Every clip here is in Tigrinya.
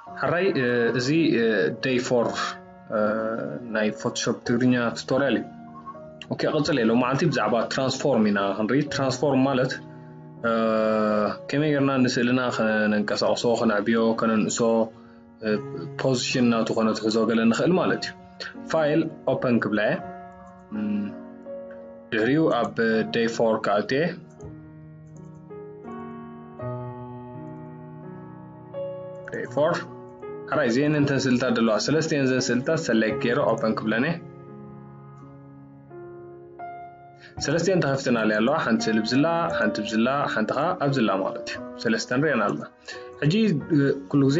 ሕራይ እዚ day four ናይ ፎቶሾፕ ትግርኛ ቱቶርያል እዩ። ኦኬ፣ ቀጽል የለው መዓልቲ ብዛዕባ ትራንስፎርም ኢና ክንርኢ። ትራንስፎርም ማለት ከመይ ጌርና ንስእልና ከነንቀሳቕሶ፣ ከነዕብዮ፣ ከነንእሶ፣ ፖዚሽን ናቱ ከነትሕዞ ገለ ንኽእል ማለት እዩ። ፋይል ኦፐን ክብላ እየ። ድሕሪኡ ኣብ day four ክኣቱ እየ። day four ሕራይ እዚአን እንተን ስእልታት ዘለዋ ሰለስቲአን ዘን ስእልታት ሰሌክት ገይረ ኦፐን ክብለን እየ። ሰለስቲአን ተኸፍትናለይ ኣለዋ። ሓንቲ ስእሊ ብዝላ፣ ሓንቲ ብዝላ፣ ሓንቲ ኸዓ ኣብዝላ ማለት እዩ። ሰለስተን ሪአን ኣለና። ሕጂ ኩሉ ግዜ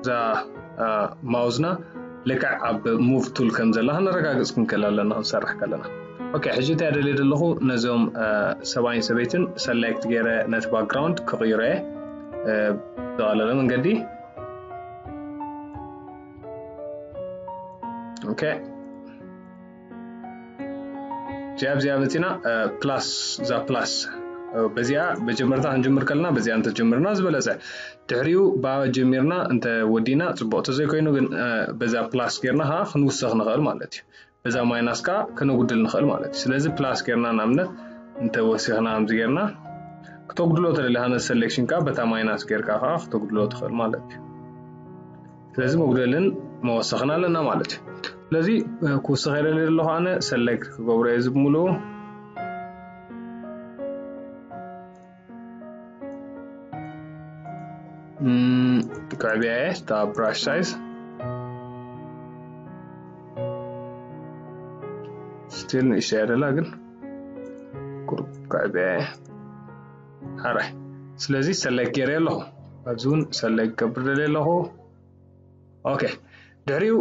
እዛ ማውዝና ልክዕ ኣብ ሙቭ ቱል ከም ዘላ ከነረጋግጽ ክንክእል ኣለና ክንሰርሕ ከለና። ኦኬ፣ ሕጂ እንታይ ደልየ ዘለኹ፣ ነዞም ሰብኣይን ሰበይትን ሰሌክት ገይረ ነቲ ባክግራውንድ ክቕይሮ እየ። ብዝቐለለ መንገዲ። ኦኬ፣ እዚኣ ኣብዚኣ መፂና ፕላስ፣ እዛ ፕላስ በዚኣ መጀመርታ ክንጅምር ከለና በዚኣ እንተጀምርና ዝበለፀ፣ ድሕሪኡ ብኣ ጀሚርና እንተ ወዲና ፅቡቅ፣ ተዘይኮይኑ ግን በዛ ፕላስ ጌርና ከዓ ክንውስኽ ንኽእል ማለት እዩ። በዛ ማይናስ ከዓ ከነጉድል ንኽእል ማለት እዩ። ስለዚ ፕላስ ጌርና ንኣብነት እንተ ወሲኽና ከምዚ ጌርና ክተጉድሎ ተደሊኻ ነቲ ሰሌክሽን ከዓ በታ ማይናስ ጌርካ ከዓ ክተጉድሎ ትኽእል ማለት እዩ። ስለዚ መጉደልን መወሰኽን ኣለና ማለት እዩ። ስለዚ ክውስኽ የደሊ ዘለኹ ኣነ ሰሌክት ክገብሮ እየ እዚ ብምሉኡ። ከዕብያ እየ እታ ብራሽ ሳይዝ። ስቲል ንእሽተይ እያ ደላ ግን ቁሩብ ከዕብያ እየ። ሓራይ ስለዚ ሰሌክት ገይረ ኣለኹ። ኣብዚ እውን ሰሌክት ገብር ደልየ ኣለኹ። ኦኬ፣ ድሕሪኡ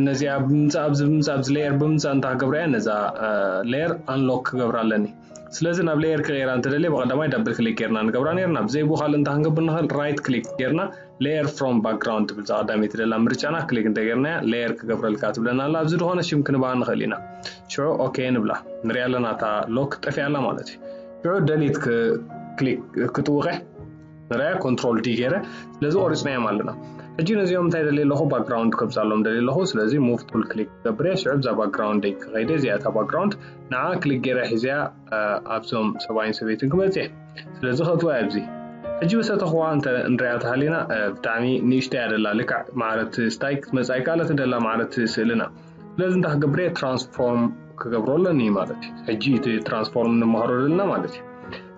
ነዚኣ ብምምፃእ ኣብዚ ብምምፃእ ኣብዚ ሌየር ብምምፃእ እንታይ ክገብራ እየ? ነዛ ሌየር ኣንሎክ ክገብራ ኣለኒ። ስለዚ ናብ ሌየር ክቕይራ እንተደልየ ብቐዳማይ ዳብል ክሊክ ጌርና ንገብራ ኔርና። ብዘይብኡ ካልእ እንታይ ክንገብር ንኽእል? ራይት ክሊክ ጌርና ሌየር ፍሮም ባክግራውንድ ትብል እዛ ቀዳመይቲ ደላ ምርጫና ክሊክ እንተጌርናያ ሌየር ክገብረልካ ትብለና ኣላ። ኣብዚ ዝኾነ ሽም ክንባ ንኽእል ኢና። ሽዑ ኦኬ ንብላ። ንሪኣ ኣለና እታ ሎክ ጠፊኣ ኣላ ማለት እዩ። ሽዑ ደሊት ክሊክ ክጥውቐ ንርኣያ ኮንትሮል ዲ ገይረ ስለዚ ቆሪፅናዮም ኣለና። ሕጂ ነዚኦም እንታይ ደልየ ኣለኹ? ባክግራውንድ ከብዛሎም ደልየ ኣለኹ። ስለዚ ሙቭ ቱል ክሊክ ክገብር እየ። ሽዑ ብዛ ባክግራውንድ ክኸይደ እዚኣ እታ ባክግራውንድ ንዓ ክሊክ ገይረ ሒዘያ ኣብዞም ሰብኣይን ሰበይትን ክመፅእ እየ። ስለዚ ከእትዋ ኣብዚ ሕጂ በሰተኽዋ እንተ ንሪኣ ተሃሊና ብጣዕሚ ንእሽተይ እያ ደላ። ልክዕ ማዕረት ስታይ ክትመፃ ኣይከኣለትን ደላ ማዕረት ስእልና። ስለዚ እንታይ ክገብር እየ? ትራንስፎርም ክገብሮ ኣለኒ ማለት እዩ። ሕጂ እቲ ትራንስፎርም ንመሃሮ ዘለና ማለት እዩ።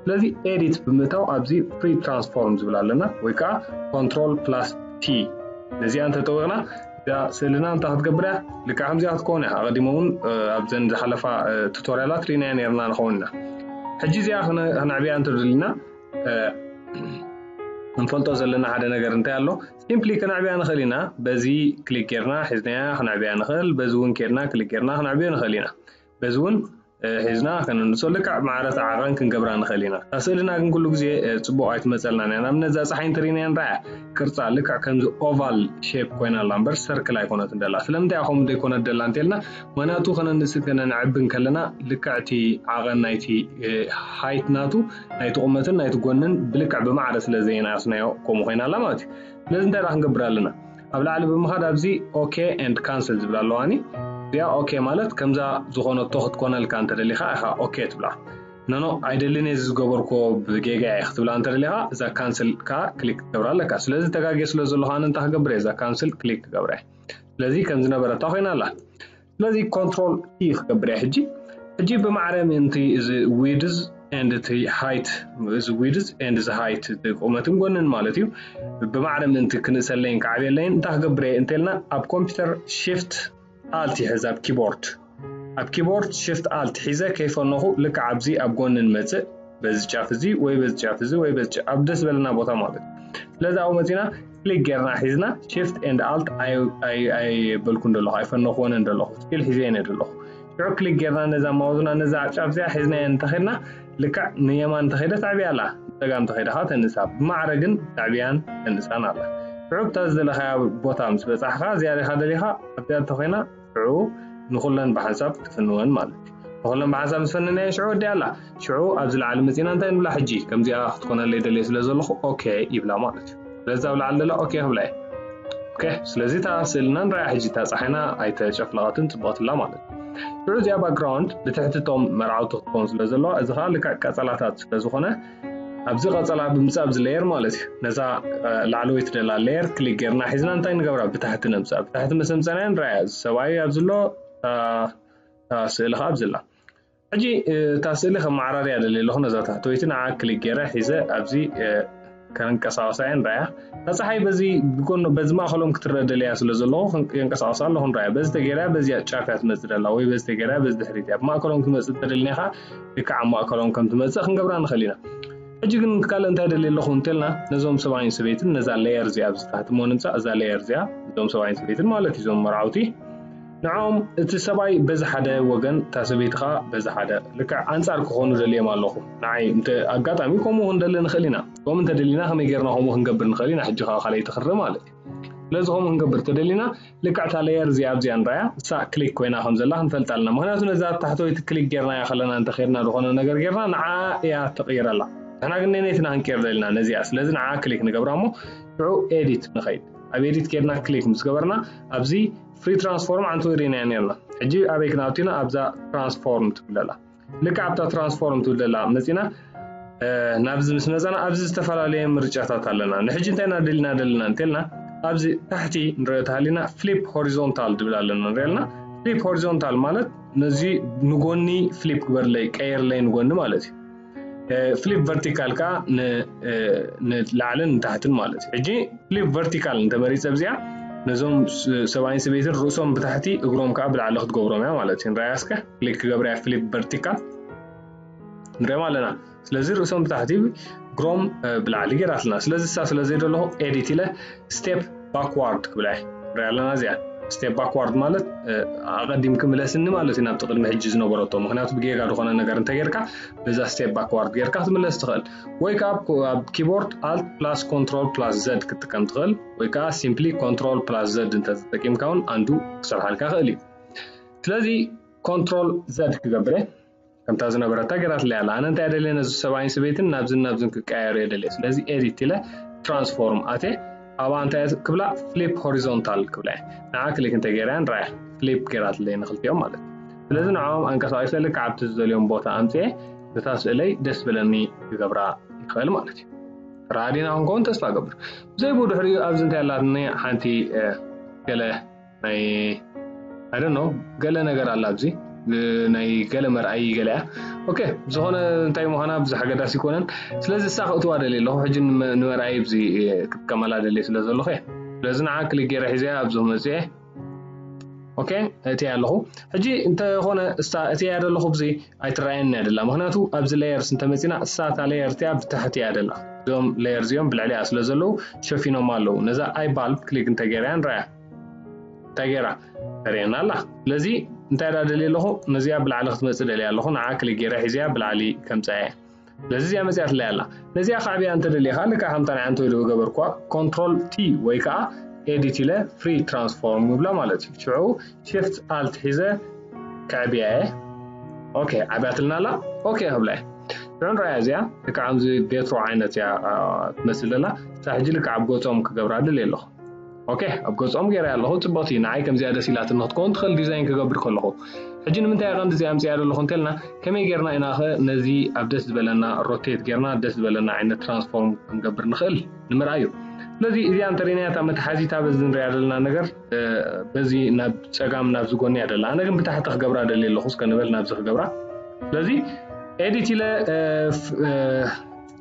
ስለዚ ኤዲት ብምእታው ኣብዚ ፍሪ ትራንስፎርም ዝብል ኣለና ወይ ከዓ ኮንትሮል ፕላስ ቲ ነዚኣ እንተጠዊቕና እዛ ስእልና እንታይ ክትገብር እያ? ልክዕ ከምዚኣ ክትከውን እያ። ኣቐዲሞ እውን ኣብዘን ዝሓለፋ ቱቶርያላት ርኢናያ ነርና ንኸውን ኢና። ሕጂ እዚኣ ክነዕብያ እንተደሊና ክንፈልጦ ዘለና ሓደ ነገር እንታይ ኣሎ? ሲምፕሊ ክነዕብያ ንኽእል ኢና። በዚ ክሊክ ጌርና ሒዝናያ ክነዕብያ ንኽእል። በዚ እውን ኬድና ክሊክ ጌርና ክነዕብዮ ንኽእል ኢና። በዚ እውን ሒዝና ከነንሶ ልክዕ ማዕረት ዓቐን ክንገብራ ንኽእል ኢና። እታ ስእልና ግን ኩሉ ግዜ ፅቡቕ ኣይትመፀልናን እያ። ንኣብነት እዛ ፀሓይ እንተሪእናያ ንረኣያ ቅርፃ ልክዕ ከምዚ ኦቫል ሼፕ ኮይና ኣላ እምበር ሰርክል ኣይኮነትን ደላ። ስለምንታይ እያ ከምኡ ዘይኮነት ደላ እንተልና ምኽንያቱ ከነንእስን ከነንዕብን ከለና ልክዕ እቲ ዓቐን ናይቲ ሃይት ናቱ ናይቲ ቁመትን ናይቲ ጎንን ብልክዕ ብማዕረ ስለ ዘየናእስናዮ ከምኡ ኮይና ኣላ ማለት እዩ። ስለዚ እንታይ ደኣ ክንገብር ኣለና? ኣብ ላዕሊ ብምኻድ ኣብዚ ኦኬ ኤንድ ካንስል ዝብል ኣለዋኒ። እዚኣ ኦኬ ማለት ከምዛ ዝኾነቶ ክትኮነልካ እንተደሊኻ ኢኻ ኦኬ ትብላ። ኖኖ ኣይደልን እየ ዝገበርኮ ብጌጋ እየ ክትብላ እንተደሊኻ እዛ ካንስል ከኣ ክሊክ ክትገብራ ኣለካ። ስለዚ ተጋግየ ስለ ዘለኹ ኣነ እንታይ ክገብር እየ? እዛ ካንስል ክሊክ ክገብራ እየ። ስለዚ ከም ዝነበረታ ኮይና ኣላ። ስለዚ ኮንትሮል ቲ ክገብር እየ ሕጂ። ሕጂ ብማዕረ ምእንቲ እዚ ዊድዝ ኤንድ እቲ ሃይት፣ እዚ ዊድዝ ኤንድ እዚ ሃይት፣ እቲ ቁመትን ጎንን ማለት እዩ። ብማዕረ ምእንቲ ክንእሰለይን ክዓብየለይን እንታይ ክገብር እየ እንተልና ኣብ ኮምፒውተር ሺፍት ኣልት ይሕዝ ኣብ ኪቦርድ። ኣብ ኪቦርድ ሺፍት ኣልት ሒዘ ከይፈነኹ ልክዕ ኣብዚ ኣብ ጎኒ ንመጽእ በዚ ጫፍ እዚ ወይ በዚ ጫፍ እዚ ወይ በዚ ጫፍ ኣብ ደስ ዝበለና ቦታ ማለት እዩ። ስለዚ ኣብኡ መጺና ክሊክ ጌርና ሒዝና ሺፍት ኤንድ ኣልት ኣይበልኩን ዘለኹ ኣይፈነኽዎን ዘለኹ ስቲል ሒዘ እየ ዘለኹ። ሽዑ ክሊክ ጌርና ነዛ ማውዝና ነዛ ጫፍ እዚኣ ሒዝናያ እንተኸድና ልክዕ ንየማን እንተኸይደ ተዕብያ ኣላ፣ ንጸጋም እንተኸይደ ከዓ ተንሳ። ብማዕረ ግን ተዕብያን ተንሳን ኣላ። ሽዑ ብታ ዝደለኻያ ቦታ ምስ በጻሕኻ እዚኣ ዲኻ ደሊኻ ኣብዚኣ እንተኾይና ሽዑ ንኹለን ብሓንሳብ ትፍንወን ማለት እዩ። ንኹለን ብሓንሳብ ምስ ፈነናየን ሽዑ ወዲኣ ኣላ። ሽዑ ኣብዚ ላዕሊ መጺና እንታይ ንብላ ሕጂ? ከምዚኣ ክትኮነለይ ደልየ ስለ ዘለኹ ኦኬ ይብላ ማለት እዩ። ስለዚ ኣብ ላዕሊ ደላ ኦኬ ክብላ እየ። ኦኬ፣ ስለዚ እታ ስእልና ንርኣያ ሕጂ። እታ ፀሓይና ኣይተጨፍለቐትን፣ ፅብቕትላ ማለት እዩ። ሽዑ እዚኣ ባክግራውንድ ብትሕቲ እቶም መርዓውቲ ክትከውን ስለ ዘለዋ፣ እዚ ከዓ ልክዕ ቀፀላታት ስለ ዝኾነ፣ ኣብዚ ቀፀላ ብምፃእ ኣብዚ ሌየር ማለት እዩ። ነዛ እ፣ ላዕለወይቲ ደላ ሌየር ክሊክ ጌርና ሒዝና እንታይ ንገብራ? ብታሕቲ ነምፅኣ። ብታሕቲ ምስ ኣምፀናያ ንርኣያ፣ እዚ ሰብኣይ ኣብዚ ኣሎ፣ እታ እታ ስእሊ ከዓ ኣብዚ ኣላ። ሕጂ እ፣ እታ ስእሊ ከመዓራርያ ደልየ ኣለኹ። ነዛ ታሕተወይቲ ንዓ ክሊክ ገይረ ሒዘ ኣብዚ እ፣ ከንቀሳቐሳ እየ። ንርኣያ፣ እታ ፀሓይ በዚ ብጎኖ፣ በዚ ማእከሎም ክትረአ ደልያ ስለ ዘለኹ ከን-፣ የንቀሳቕሳ ኣለኹ። ንርኣያ፣ በዚ ተገይራ በዚኣ ጫፍ እያ ትመፅእ ደላ፣ ወይ በዚ ተገይራ በዚ ድሕሪት እያ። ብማእከሎም ክትመፅእ ተደሊና ከዓ ልክዕ ኣብ ማእከሎም ከም ትመፅእ ክንገብራ ንኽእል ኢና። ሕጂ ግን ካልእ እንታይ ደልየ ኣለኹ እንተልና፣ ነዞም ሰብኣይን ሰበይትን፣ ነዛ ሌየር እዚኣ ኣብዚ ታሕቲ እሞ ንምፃእ፣ እዛ ሌየር እዚኣ፣ እዞም ሰብኣይን ሰበይትን ማለት እዩ፣ እዞም መርዓውቲ፣ ንዕኦም እቲ ሰብኣይ በዚ ሓደ ወገን፣ እታ ሰበይቲ ከዓ በዚ ሓደ፣ ልክዕ ኣንጻር ክኾኑ ደልዮም ኣለኹ። ንዓይ እንተ ኣጋጣሚ ከምኡ ክንደሊ ንኽእል ኢና። ከምኡ እንተደሊና ከመይ ጌርና ከምኡ ክንገብር ንኽእል ኢና? ሕጂ ከዓ ካልኣይቲ ክርኢ ማለት እዩ። ስለዚ ከምኡ ክንገብር ተደሊና፣ ልክዕ እታ ሌየር እዚኣ ኣብዚኣ ንርኣያ፣ እሳ ክሊክ ኮይና ከም ዘላ ክንፈልጥ ኣለና። ምኽንያቱ ነዛ ታሕተወይቲ ክሊክ ጌርናያ ከለና እንተኸድና ዝኾነ ነገር ጌርና፣ ንዓ እያ ተቕይረላ። ንሕና ግን ነነይትና ክንቀይር ደሊና ነዚኣ። ስለዚ ንዓ ክሊክ ንገብራ እሞ ሽዑ ኤዲት ንኸይድ። ኣብ ኤዲት ኬድና ክሊክ ምስ ገበርና ኣብዚ ፍሪ ትራንስፎርም ዓንተወይ ርኢናዮ ነርና። ሕጂ ኣበይ ክንኣቱና? ኣብዛ ትራንስፎርም ትብል ኣላ። ልክዕ ኣብታ ትራንስፎርም ትብል ዘላ መጺና፣ እ፣ ናብዚ ምስ መጻና ኣብዚ ዝተፈላለየ ምርጫታት ኣለና። ንሕጂ እንታይ ኢና ደሊና ደለና እንተልና ኣብዚ ታሕቲ ንሪኦ ተሃሊና ፍሊፕ ሆሪዞንታል ዝብል ኣለና ንሪኦ ኣለና። ፍሊፕ ሆሪዞንታል ማለት ነዚ ንጎኒ ፍሊፕ ግበርለይ፣ ቀየርለይ ንጎኒ ማለት እዩ። እ፣ ፍሊፕ ቨርቲካል ከኣ ን-፣ እ፣ ንላዕልን ንታሕትን ማለት እዩ። ሕጂ ፍሊፕ ቨርቲካል እንተመሪጸ ኣብዚኣ ነዞም ስ-፣ ሰብኣይን ሰበይትን ርእሶም ብታሕቲ እግሮም ከኣ ብላዕሊ ክትገብሮም እያ ማለት እዩ። ንርኣያ እስከ ክሊክ ክገብራ እያ ፍሊፕ ቨርቲካል። ንሪኦም ኣለና። ስለዚ ርእሶም ብታሕቲ እግሮም፣ እ፣ ብላዕሊ ገይራትና። ስለዚ እሳ ስለ ዘይደለኹ ኤዲት ኢለ ስቴፕ ባክዋርድ ክብላ እየ። ንሪኣ ኣለና እዚኣ። ስቴፕ ባክዋርድ ማለት፣ እ፣ ኣቐዲምኪ ምለስኒ ማለት እዩ ናብቲ ቅድሚ ሕጂ ዝነበረቶ። ምኽንያቱ ብጌጋ ዝኾነ ነገር እንተጌርካ በዛ ስቴፕ ባክዋርድ ጌርካ ክትምለስ ትኽእል። ወይ ከዓ ኣብ ኮ-፣ ኣብ ኪቦርድ ኣልት ፕላስ ኮንትሮል ፕላስ ዘድ ክትጥቀም ትኽእል። ወይ ከዓ ሲምፕሊ ኮንትሮል ፕላስ ዘድ እንተተጠቂምካ እውን ኣንዱ ክሰርሓልካ ይኽእል እዩ። ስለዚ ኮንትሮል ዘድ ክገብር እየ። ከምታ ዝነበረታ ገይራትለይ ኣላ። ኣነ እንታይ ደልየ ነዚ ሰብኣይን ሰበይትን ናብዝን ናብዝን ክቀያየሩ እየ ደልየ። ስለዚ ኤዲት ኢለ ትራንስፎርም ኣትየ። ኣብኣ እንታይ እየ ክብላ? ፍሊፕ ሆሪዞንታል ክብላ እየ። ንዓ ክሊክ እንተ ገይራ ንርኣያ። ፍሊፕ ገይራትለይ ንኽልቲኦም ማለት እዩ። ስለዚ ንዕኦም ኣንቀሳቒሰ ልክዕ ኣብቲ ዝደልዮም ቦታ ኣምፅኤ ነታ ስእለይ ደስ በለኒ ክገብራ ይኽእል ማለት እዩ። ራዲና ክንከውን ተስፋ እገብር። ብዘይ ብድሕሪኡ ኣብዚ እንታይ ኣላትኒ ሓንቲ፣ እ፣ ገለ ናይ፣ I don't know፣ ገለ ነገር ኣላ ኣብዚ፣ ብ-፣ ናይ ገለ መርኣይ ገለ እያ። ኦኬ፣ ዝኾነ እንታይ ምዃና ብዙሕ ኣገዳሲ ኣይኮነን። ስለዚ እሳ ክእትዋ ደልየ ኣለኹ። ሕጂ ንመ-፣ ንመርኣይ ኣብዚ፣ እ፣ ክጥቀመላ ደልየ ስለ ዘለኹ እየ። ስለዚ ንዓ ክሊክ ገይረ ሒዘያ ኣብዚ ክመጽእ እየ። ኦኬ፣ እትያ ኣለኹ። ሕጂ እንተኾነ እሳ እትያ ደለኹ ኣብዚ ኣይትረኣየኒ እያ ደላ። ምኽንያቱ ኣብዚ ሌየርስ እንተመጺና እሳ እታ ሌየር እቲኣ ብታሕቲ እያ ደላ። እዞም ሌየር እዚኦም ብልዕሊኣ ስለ ዘለዉ ሸፊኖም ኣለዉ። ነዛ ኣይ ባልብ ክሊክ እንተገይረያ ንረኣያ። እንታይ ገይራ? ተርእየና ኣላ። ስለዚ እንታይ ደኣ ደልየ ኣለኹ? ነዚኣ ብላዕሊ ክትመጽእ ደልየ ኣለኹ። ንዓ ክሊክ ገይረ ሒዘያ ብላዕሊ ከምጽኣ እየ። ስለዚ እዚኣ መጺኣትለይ ኣላ። ነዚኣ ከዕብያ እንተደሊኻ፣ ልክዕ ከምታ ናይ ዓንተወይ ዝገበርኳ፣ ኮንትሮል ቲ ወይ ከኣ ኤዲት ኢለ ፍሪ ትራንስፎርም ይብላ ማለት እዩ። ሽዑ ሺፍት ኣልት ሒዘ ከዕብያ እየ። ኦኬ፣ ዓብያትልና ኣላ። ኦኬ ክብላ እየ። ሽዑ ንረኣያ እዚኣ፣ ልክዕ ከምዚ ቤትሮ ዓይነት እያ፣ አ፣ ትመስል ዘላ። እሳ ሕጂ ልክዕ ኣብ ገጾም ክገብራ ድልየ ኣለኹ። ኦኬ፣ ኣብ ገጾም ገይረ ኣለኹ። ጽብቕቲ፣ ንዓይ ከምዚኣ ደስ ኢላትኒ ክትከውን ትኽእል ዲዛይን ክገብር ከለኹ። ሕጂ ንምንታይ እየ ቀንዲ እዚኣ ኣምጺኣ ዘለኹ እንተልና፣ ከመይ ጌርና ኢና ኸ ነዚ ኣብ ደስ ዝበለና ሮቴት ጌርና ደስ ዝበለና ዓይነት ትራንስፎርም ክንገብር ንኽእል ንምርኣይ እዩ። ስለዚ እዚኣ እንተሪእናያ እታ መትሓዚታ በዚ ንሪኣ ዘለና ነገር፣ እ፣ በዚ ናብ ጸጋም ናብዚ ጎኒ እያ ደላ። ኣነ ግን ብታሕቲ ክገብራ ደልየ ኣለኹ፣ እስከ ንበል ናብዚ ክገብራ። ስለዚ ኤዲት ኢለ፣ እ፣ ፍ-፣ እ፣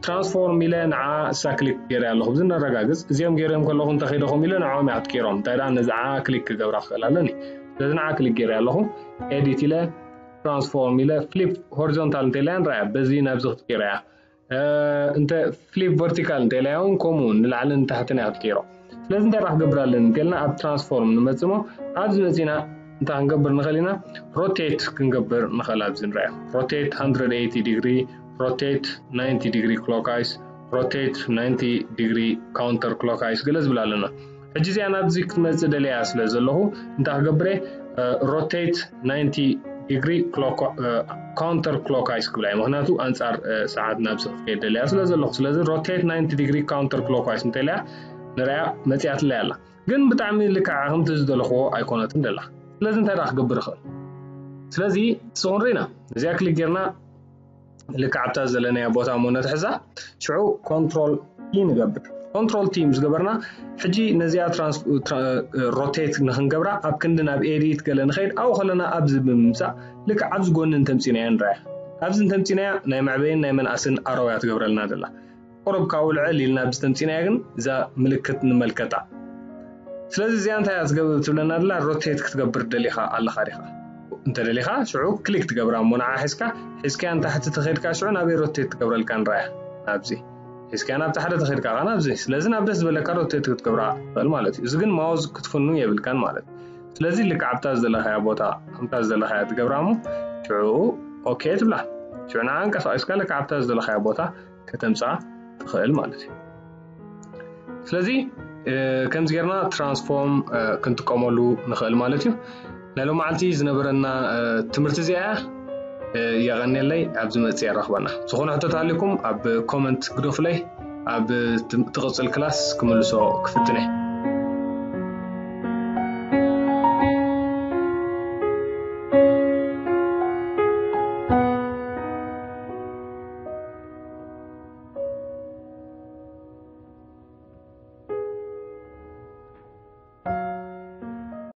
ትራንስፎርም ኢለ ንዓ እሳ ክሊክ ገይረ ኣለኹ። እዚ ነረጋግጽ። እዚኦም ገይሮም ከለኹ እንተኸይደኹም ኢለ ንዕኦም እያ ክትቀይሮም። እንታይ ደኣ ነዚ ንዓ ክሊክ ክገብራ ክኽእል ኣለኒ። ስለዚ ንዓ ክሊክ ገይረ ኣለኹ። ኤዲት ኢለ ትራንስፎርም ኢለ ፍሊፕ ሆሪዞንታል እንተ ኢለያ ንረኣያ። በዚ ናብዚ ክትቀይሮ እያ። እ፣ እንተ ፍሊፕ ቨርቲካል እንተ ኢለያ እውን ከምኡ ንላዕልን ንታሕትን እያ ክትቀይሮ። ስለዚ እንታይ ደኣ ክገብር ኣለኒ እንተልና ኣብ ትራንስፎርም ንመጽእ እሞ ኣብዚ መጺና እንታይ ክንገብር ንኽእል ኢና? ሮቴት ክንገብር ንኽእል። ኣብዚ ንረኣዮ ሮቴት ሃንድረድ ኤይቲ ዲግሪ፣ ሮቴት ናይንቲ ዲግሪ ክሎክዋይስ፣ ሮቴት ናይንቲ ዲግሪ ካውንተር ክሎክዋይስ ገለ ዝብል ኣለና። ሕጂ እዚኣ ናብዚ ክትመጽእ ደልያ ስለ ዘለኹ እንታይ ክገብር እየ? እ፣ ሮቴት ናይንቲ ዲግሪ ክሎክ-፣ እ፣ ካውንተር ክሎክዋይስ ክብላ እየ። ምኽንያቱ ኣንጻር፣ እ፣ ሰዓት ናብዚ ክትከይድ ደልያ ስለ ዘለኹ። ስለዚ ሮቴት ናይንቲ ዲግሪ ካውንተር ክሎክዋይስ እንተኢለያ ንረኣያ መጺኣትለይ ኣላ። ግን ብጣዕሚ ልክዓ ከምቲ ዝደለኽዎ ኣይኮነትን ደላ። ስለዚ እንታይ ደኣ ክገብር ይኽእል? ስለዚ ስኹን ርኢና እዚኣ ክሊክ ጌርና ልክዓ ኣብታ ዘለናያ ቦታ እሞ ነትሕዛ። ሽዑ ኮንትሮል ቲ ንገብር። ኮንትሮል ቲ ምስ ገበርና ሕጂ ነዚኣ ሮቴት ንክንገብራ ኣብ ክንዲ ናብ ኤዲት ገለ ንኸይድ ኣብኡ ከለና ኣብዚ ብምምፃእ ልክዕ ኣብዚ ጎኒ እንተምፂናያ ንረኣያ። ኣብዚ እንተምፂናያ ናይ መዕበይን ናይ መንኣስን ኣረውያ ትገብረልና ደላ። ቁሩብ ካብኡ ልዕል ኢልና ኣብዚ ተምፂናያ ግን እዛ ምልክት ንመልከታ። ስለዚ እዚኣ እንታይ እያ ትገብር ትብለና ደላ? ሮቴት ክትገብር ደሊኻ ኣለኻ ዲኻ? እንተደሊኻ ሽዑ ክሊክ ትገብራ እሞ ንዓ ሒዝካ ሒዝካያ ንታሕቲ ተኸድካ ሽዑ ናበይ ሮቴት ትገብረልካ ንረኣያ። ናብዚ ሒዝካያ ናብ ታሕቲ ተኸድካ ኸዓ ናብዚ። ስለዚ ናብ ደስ ዝበለካ ሮቴት ክትገብራ ትኽእል ማለት እዩ። እዚ ግን ማውዝ ክትፍኑ የብልካን ማለት እዩ። ስለዚ ልክዕ ኣብታ ዝደለኻያ ቦታ ከምታ ዝደለኻያ ትገብራ እሞ ሽዑ ኦኬ ትብላ። ሽዑ ንዓ ኣንቀሳቒስካ ልክዕ ኣብታ ዝደለኻያ ቦታ ከተምፅኣ ትኽእል ማለት እዩ። ስለዚ ከምዚ ጌርና ትራንስፎርም ክንጥቀመሉ ንኽእል ማለት እዩ። ናይ ሎመዓልቲ ዝነበረና ትምህርቲ እዚኣ እያ። የቐንየለይ፣ ኣብ ዝመፅእ የራኽበና። ዝኾነ ሕቶታት ኣሊኩም ኣብ ኮመንት ግደፉለይ፣ ኣብ ትቕፅል ክላስ ክምልሶ ክፍትነ።